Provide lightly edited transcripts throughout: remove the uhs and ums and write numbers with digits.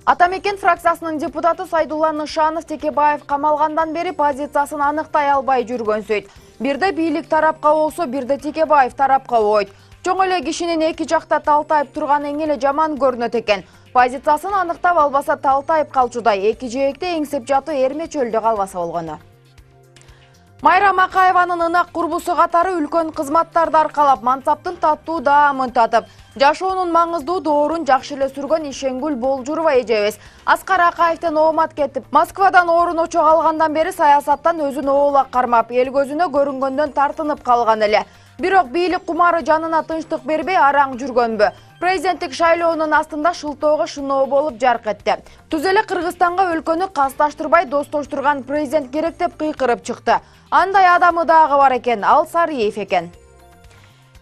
Атамекен фракциясынын депутаты Сайдулла Нышанов Текебаев камалгандан бери позициясын аныктай албай жүргөнсөйт. Бирде бийлик тарапка болсо, бирде Текебаев тарапка койт. Чоң эле кишинин эки жакта талтайып турганы эң эле жаман көрүнөт экен. Позициясын аныктап албаса талтайып калчудай, эки жээкте эңсеп жатуу эрме чөлдө калбаса болгону. Майра Макаеванын ынак курбусу катары үлкөн кызматтарды аркалап, мансаптын таттуу даамын татып, жашоонун маңыздуу доорун жакшы эле сүргөн Ишенгүл Болжурова эжебиз Аскар Акаевден оомат кетип, Москвадан орун очок алгандан бери саясаттан өзүн оолак кармап, эл көзүнө көрүнгөндөн тартынып калган эле. Бирок бийлик кумары жанына тынчтык бербей араң жүргөнбү? Президенттик шайлоонун астында шылтоого шыноо болуп жарк этти. Түз эле Кыргызстанга өлкөнү касташтырбай достоштурган президент керек деп кыйкырып чыкты. Андай адамы дагы бар экен, ал Сариев экен.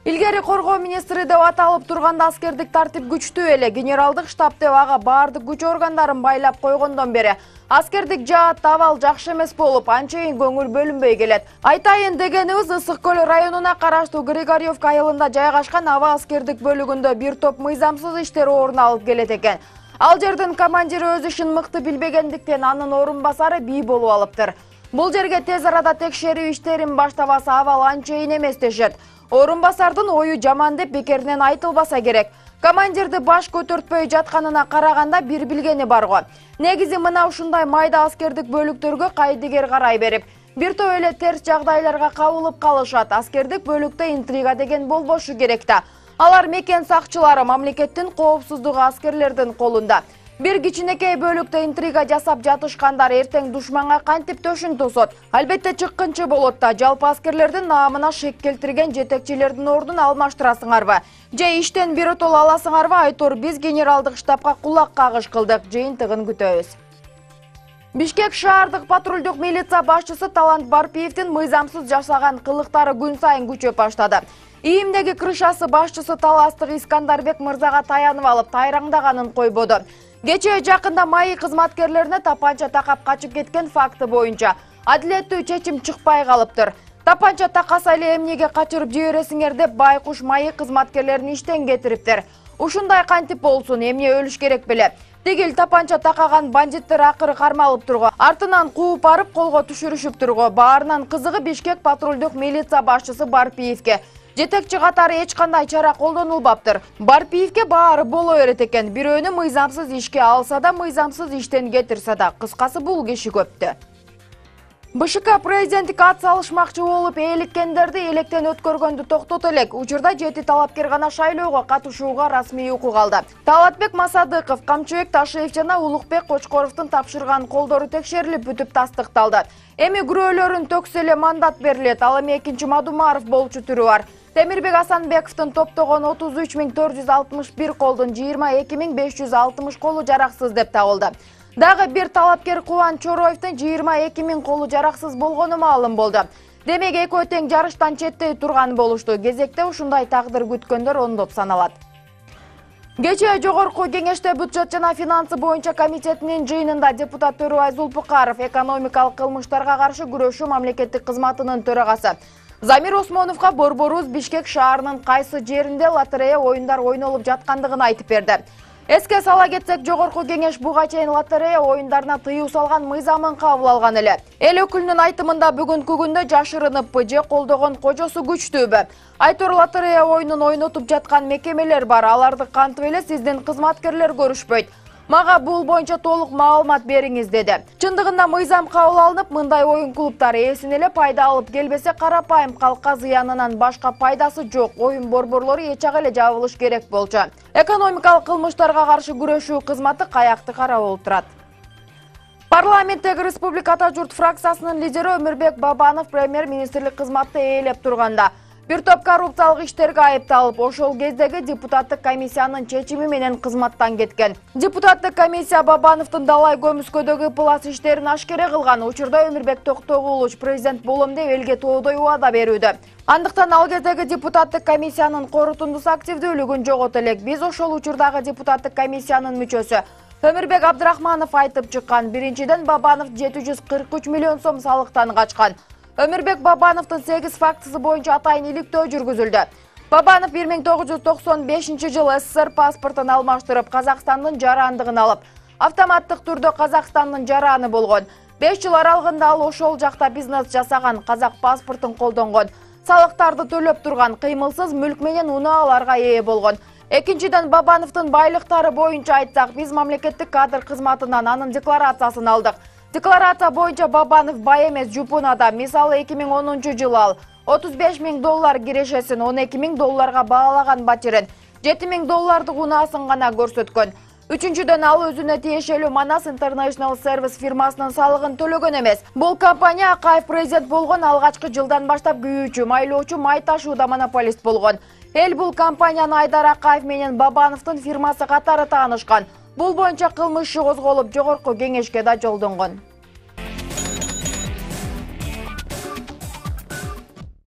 Илгери коргоо министри деп аталып турганда аскердик тартип күчтүү эле, генералдык штаб деп ага баардык күч органдарын байлап койгондон бери аскердик жаат абал жакшы эмес болуп, анчейин көңүл бөлүнбөй келет. Айтайын дегенибиз, Ысык көл районуна караштуу Григорьевка айылында жайгашкан аба аскердик бөлүгүндө бир топ мыйзамсыз иштер орун алып келет экен. Ал жердин командири өз ишин мыкты билбегендиктен анын орун басары бий болуп алыптыр. Бул жерге тез арада текшерүү иштерин баштабаса абал анчейин эмес дешет. Орун басардын ою жаман деп бекеринен айтылбаса керек. Командирди баш көтөртпөй жатканына караганда бир билгени бар го. Негизи мына ушундай майда аскердик бөлүктөргө кайдыгер карай берип, бир топ эле терс жагдайларга кабылып калышат. Аскердик бөлүктө интрига деген болбошу керек да. Алар мекен сакчылары, мамлекеттин коопсуздугу аскерлердин колунда. Бир кичинекей бөлүктө интрига жасап жатышкандар эртең душманга кантип төшүн тосот. Албетте чыккынчы болот да, жалпы аскерлердин наамына шек келтирген жетекчилердин ордун алмаштырасыңарбы? Же иштен биротол аласыңарбы? Айтор биз генералдык штабка кулак кагыш кылдык, жыйынтыгын күтөбүз. Бишкек шаардык патрулдук милиция башчысы Талант Барпиевдин мыйзамсыз жасаган кылыктары күн сайын күчөп баштады. ИИМдеги крышасы башчысы Таластык Искандарбек мырзага таянып алып, тайраңдаганын койбоду. Кечээ жакында майы кызматкерлерине тапанча такап качып кеткен факты боюнча адилеттүү чечим чыкпай калыптыр. Тапанча такаса эле эмнеге качырып жибересиңер деп байкуш майы кызматкерлерин иштен кетириптир. Ушундай кантип болсун, эмне өлүш керек беле? Тигил тапанча такаган бандиттер акыры кармалып турго, артынан кууп барып колго түшүрүшүп турго. Баарынан кызыгы Бишкек патрулдук милиция башчысы Барпиевке жетекчи катары эч кандай чара колдонулбаптыр. Барпиевке баары боло берет экен. Бирөөнү мыйзамсыз ишке алса да, мыйзамсыз иштен кетирсе да, кыскасы бул киши көптү. БШК президенттик ат салышмакчы болуп ээликкендерди электен өткөргөндү токтото элек. Учурда 7 талапкер гана шайлоого катышууга расмий укук алды. Талатбек Масадыков, Камчыбек Ташиев жана Улукбек Кочкоровдун тапшырган колдору текшерилип бүтүп тастыкталды. Эми күрөөлөрүн төксө эле мандат берилет. Ал эми экинчи Мадумаров болчу түрү бар. Темирбек Асанбековдун топтогон 33.461 колдун 22.560 колу жараксыз деп табылды. Дагы бир талапкер Кубан Чороевдин 22.000 колу жараксыз болгону маалым болду. Демек экөө тең жарыштан четтей турган болушту. Кезекте ушундай тагдыр күткөндөр ондоп саналат. Кечээ Жогорку Кеңеште бюджет жана финансы боюнча комитетинин жыйынында депутат Төрөбай Зулпукаров экономикалык кылмыштарга каршы күрөшүү мамлекеттик кызматынын төрагасы Замир Осмоновго Борборубуз Бишкек шаарынын кайсы жеринде лотерея оюндар ойнолуп жаткандыгын айтып берди. Эске сала кетсек, Жогорку Кеңеш буга чейин лотерея оюндарына тыюу салган мыйзамын кабыл алган эле. Эл өкүлүнүн айтымында бүгүнкү күндө жашырыныппы же колдогон кожосу күчтүүбү? Айтор лотерея оюнун ойнотуп жаткан мекемелер бар, аларды кантип эле сиздин кызматкерлер көрүшпөйт? Мага бул боюнча толук маалымат бериңиз деди. Чындыгында мыйзам кабыл алынып, мындай оюн клубтары ээсине эле пайда алып келбесе, карапайым калкка зыянынан башка пайдасы жок. Оюн борборлору эч эле жабылыш керек болчу. Экономикалык кылмыштарга каршы күрөшүү кызматы каякты карап отурат. Парламенттеги Республиката журт фракциясынын лидери Өмүрбек Бабанов премьер-министрлик кызматты ээлеп турганда бир топ коррупциялык иштерге айыпталып, ошол кездеги депутаттык комиссиянын чечими менен кызматтан кеткен. Депутаттык комиссия Бабановдун далай көмүскөдөгү плас иштерин ашкере кылган. Учурда Өмүрбек Токтогулович президент болом деп элге тоодой убада берүүдө. Андыктан ал кездеги депутаттык комиссиянын корутундусу активдүүлүгүн жогото элек. Биз ошол учурдагы депутаттык комиссиянын мүчөсү Өмүрбек Абдрахманов айтып чыккан. Биринчиден, Бабанов 743 миллион сом салыктан качкан. Өмүрбек Бабановдун 8 фактысы боюнча атайын иликтөө жүргүзүлдү. Бабанов 1995 жылы СССР паспортун алмаштырып, Казакстандын жарандыгын алып, автоматтык түрдө Казакстандын жараны болгон. 5 жыл аралыгында ал ошол жакта бизнес жасаган, казак паспортун колдонгон, салыктарды төлөп турган, кыймылсыз мүлк менен унааларга ээ болгон. Экинчиден, Бабановдун байлыктары боюнча айтсак, биз мамлекеттик кадр кызматынан анын декларациясын алдык. Декларация боюнча Бабанов бай эмес, жупунада. Мисалы 2010-жылы ал $35,000 кирешесин $12,000 баалаган батирин, $7,000 унаасын гана көрсөткөн. Үчүнчүдөн, ал өзүнө тиешелүү Манас International Service фирмасынын салыгын төлөгөн эмес. Бул компания Акаев президент болгон алгачкы жылдан баштап күйүүчү, майлоочу, май ташууда монополист болгон. Эл бул компанияны Айдар Акаев менен Бабановдун фирмасы катары таанышкан. Бул боюнча кылмыш иши козголуп, жогорку кеңешке да жолдонгон.